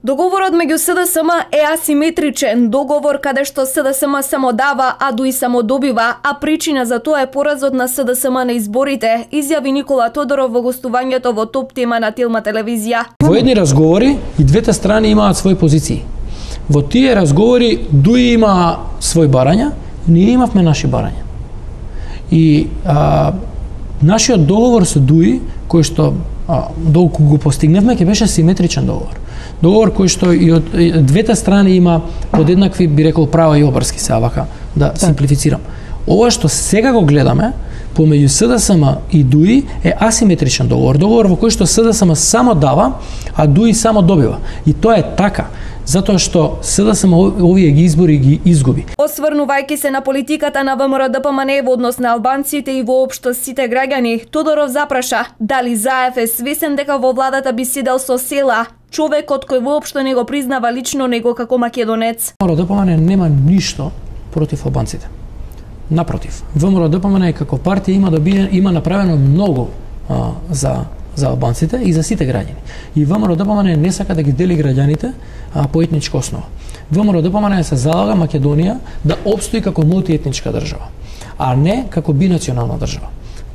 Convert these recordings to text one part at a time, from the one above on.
Договорот меѓу СДСМ е асиметричен, договор каде што СДСМ само дава, а ДУИ само добива, а причина за тоа е поразот на СДСМ на изборите, изјави Никола Тодоров во гостувањето во Топ тема на Телма телевизија. Во едни разговори и двете страни имаат своји позиции. Во тие разговори ДУИ има своји барања, ние имавме наши барања. И нашиот договор со ДУИ, кој што доколку го постигневме, ќе беше симетричен договор. Договор кој што и од двете страни има подеднакви, би рекол, права и обврски, се вака да симплифицирам. Ова што сега го гледаме помеѓу СДСМ и ДУИ е асиметричен договор, договор во кој што СДСМ само дава, а ДУИ само добива. И тоа е така, затоа што СДСМ овие избори ги изгуби. Осврнувајќи се на политиката на ВМРО-ДПМН во однос на албанците и воопшто сите граѓани, Тодоров запраша дали Заев е свесен дека во владата би седел со Села, човекот кој воопшто не го признава лично него како македонец. ВМРО-ДПМН нема ништо против албанците. Напротив, ВМРО-ДПМН како партија има направено многу за албанците и за сите граѓани. И ВМРО-ДПМН не сака да ги дели граѓаните по етничка основа. ВМРО-ДПМН се залага Македонија да опстои како мултиетничка држава, а не како бинационална држава.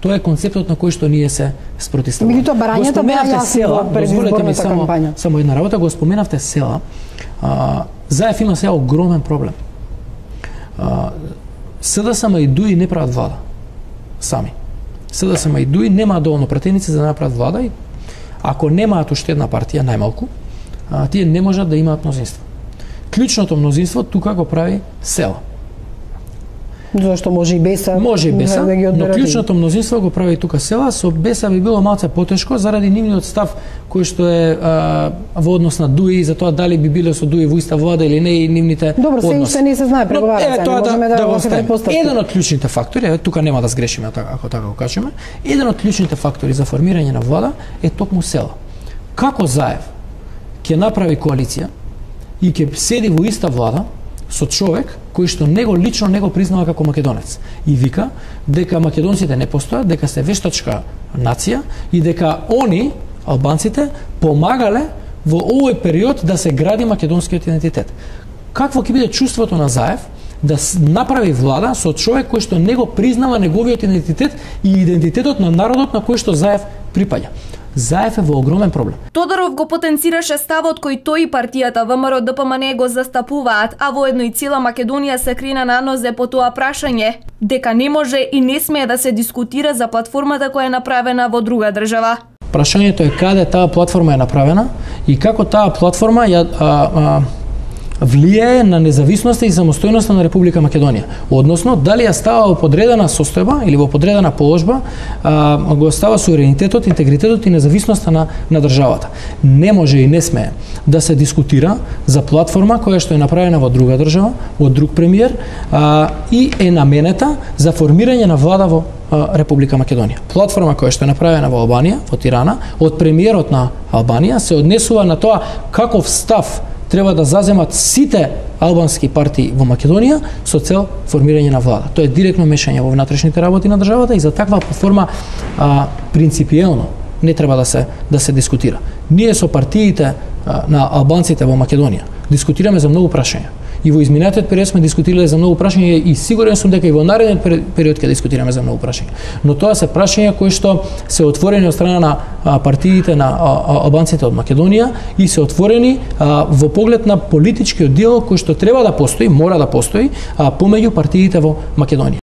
Тоа е концептот на кој што ние се спротивставаме. Меѓутоа барањата беа јасни во предизборната кампања. Само една работа, го споменавте Села. Заев има сега огромен проблем. СДСМ и ДУИ не прават влада сами. СДСМ и ДУИ немаат доволно пратеници за да направат влада и ако немаат уште една партија, најмалку, тие не можат да имаат мнозинство. Клучното мнозинство тука го прави Села. Зашто може и Беса. Може и Беса, но клучното мнозинство го прави тука Села. Со Беса би било малце потешко заради нивниот став кој што е во однос на ДУИ, за тоа дали би биле со ДУИ во иста влада или не и нивните односи. Добро, се не се знае преговарата, можеме да го предпоставиме. Еден од клучните фактори, тука нема да сгрешиме ако така го кажеме, еден од клучните фактори за формирање на влада е токму Села. Како Заев ќе направи коалиција и ќе седи во иста влада со човек кој што него лично не го признава како македонец и вика дека македонците не постојат, дека се вештачка нација и дека они, албанците, помагале во овој период да се гради македонскиот идентитет. Какво ќе биде чувството на Заев да направи влада со човек кој што не го признава неговиот идентитет и идентитетот на народот на кој што Заев припаѓа? Заев е во огромен проблем. Тодоров го потенцираше ставот кој тој и партијата ВМРО-ДПМН го застапуваат, а воедно и цела Македонија се крена на нозе по тоа прашање, дека не може и не смее да се дискутира за платформата која е направена во друга држава. Прашањето е каде таа платформа е направена и како таа платформа влијае на независноста и самостојноста на Република Македонија. Односно, дали ја става во подредена состојба или во подредена положба, го става суверенитетот, интегритетот и независноста на државата. Не може и не смее да се дискутира за платформа која што е направена во друга држава, од друг премиер и е наменета за формирање на влада во Република Македонија. Платформа која што е направена во Албанија, во Тирана, од премиерот на Албанија се однесува на тоа каков став треба да заземат сите албански партии во Македонија со цел формирање на влада. Тоа е директно мешање во внатрешните работи на државата и за таква платформа принципиелно не треба да се дискутира. Ние со партиите на албанците во Македонија дискутираме за многу прашања. И во изминатиот период сме дискутирале за многу прашања и сигурен сум дека и во наредниот период ќе дискутираме за многу прашања. Но тоа се прашања кои што се отворени од страна на партиите на албанците од Македонија и се отворени во поглед на политичкиот диалог кој што треба да постои, мора да постои помеѓу партиите во Македонија.